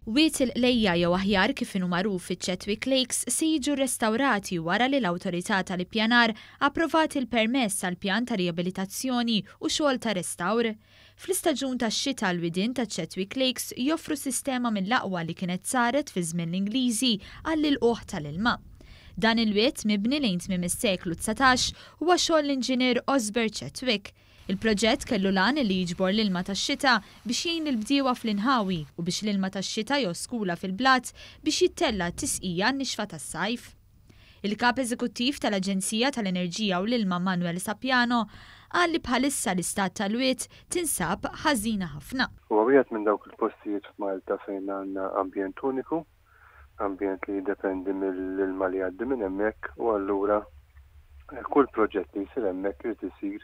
Wied il-Qlejja jew aħjar kif inhu magħruf iċ-Chetwick Lakes se jiġu rrestawrati wara li l-Awtorità tal-Ippjanar approvat il-permess għall-pjan ta' riabilitazzjoni u xogħol ta' restawr. Fl-istaġun tax-xita l-widien taċ-Chetwick Lakes joffru sistema mill-aqwa li kienet saret fi żmien l-Ingliżi għall-ilqugħ tal-ilma. Dan il-wied, mibni lejn tmiem is-seklu 19, huwa xogħol l-inġinier Osbert Chetwick. Il-proġett kellu l-għan li jiġbor l-ilma tax-xita biex jgħin lill-bdiewa fl-inħawi u biex l-ilma tax-xita joskula fil-blat biex jittella' t-tisqija għan-nixfa tas-sajf. Il-Kap Eżekuttiv tal-Aġenzija tal-Enerġija u l-Ilma Manuel Sapiano qal li bħalissa l-istat tal-wied tinsab ħażina ħafna. Huwa wieħed minn dawk il-postijiet f'Malta fejn għandna ambjent uniku, ambjent li jiddependi mill-ilma li jgħaddi minn hemmhekk u allura kull proġett li jsir hemmhekk irid isir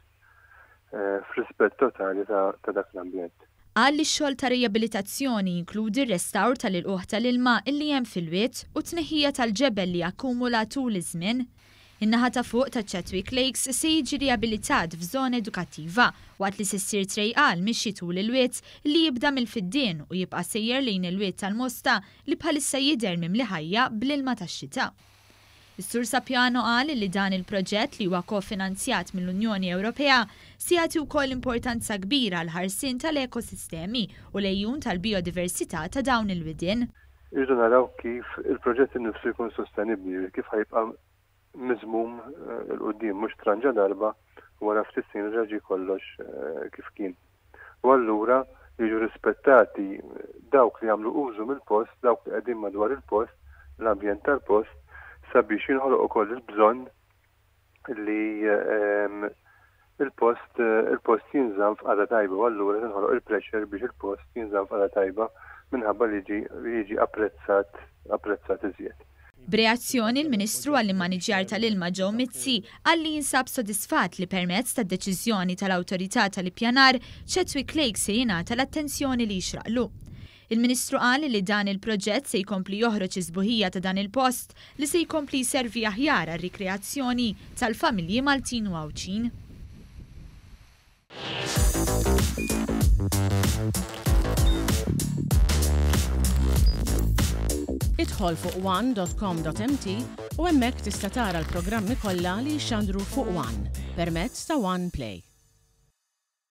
f'rispett totali ta' dak l-ambjent. Qal li x-xogħol ta' rijabilitazzjoni jinkludi r-restawr tal-ilqugħ tal-ilma illi hemm fil-wied u t-tneħħija tal-ġebel li akkumula tul iż-żmien. In-naħa ta' fuq ta' Chetwick Lakes se jiġi rijabilitat f'żona edukattiva waqt li se ssir trejqa għall-mixi tul il-wied li jibda mill-Fiddien u jibqa' sejjer lejn il-Wied tal-Mosta li bħalissa jidher mimli ħajja bl-ilma tax-xita. Is-Sur Sapiano qal li dan il-proġett li huwa ko-finanzjat mill-Unjoni Ewropea se jagħti wkoll importanza kbira għall-ħarsien tal-ekosistemi u l-għejun tal-bijodiversità ta' dawn il-widien. Irridu naraw kif il-proġett innifsu jkun sostenibbli, jiġifieri kif ħa jibqa' miżmum 'il quddiem, mhux tranġa darba u wara ftit snin reġa' ġie kollox kif kien. U allura jiġu rispettati dawk li jagħmlu użu mill-post, dawk li qegħdin madwar il-post, l-ambjent tal-post, sabiex jinħoloq ukoll il-bżonn li il-post il-post jinżamm f'qagħda tajba u allura tinħoloq il-pressure biex il-post jinżamm f'qagħda tajba minħabba li jiġi apprezzat apprezzat iżjed. B'reazzjoni, l-Ministru għall-Immaniġjar tal-Ilma Joe Mizzi qal li jinsab sodisfatt li permezz tad-deċiżjoni tal-Awtorità tal-Ippjanar, Chetwick Lake se jingħata l-attenzjoni li jixraqlu. Il-Ministru qal li dan il-proġett se jkompli joħroġ is-sbuħija ta' dan il-post li se jkompli jservi aħjar għar-rikreazzjoni tal-familji Maltin u Għawdxin. Idħol fuq one.com.mt u hemmhekk tista' tara l-programmi kollha li jixxandru fuq One permezz ta' One Play.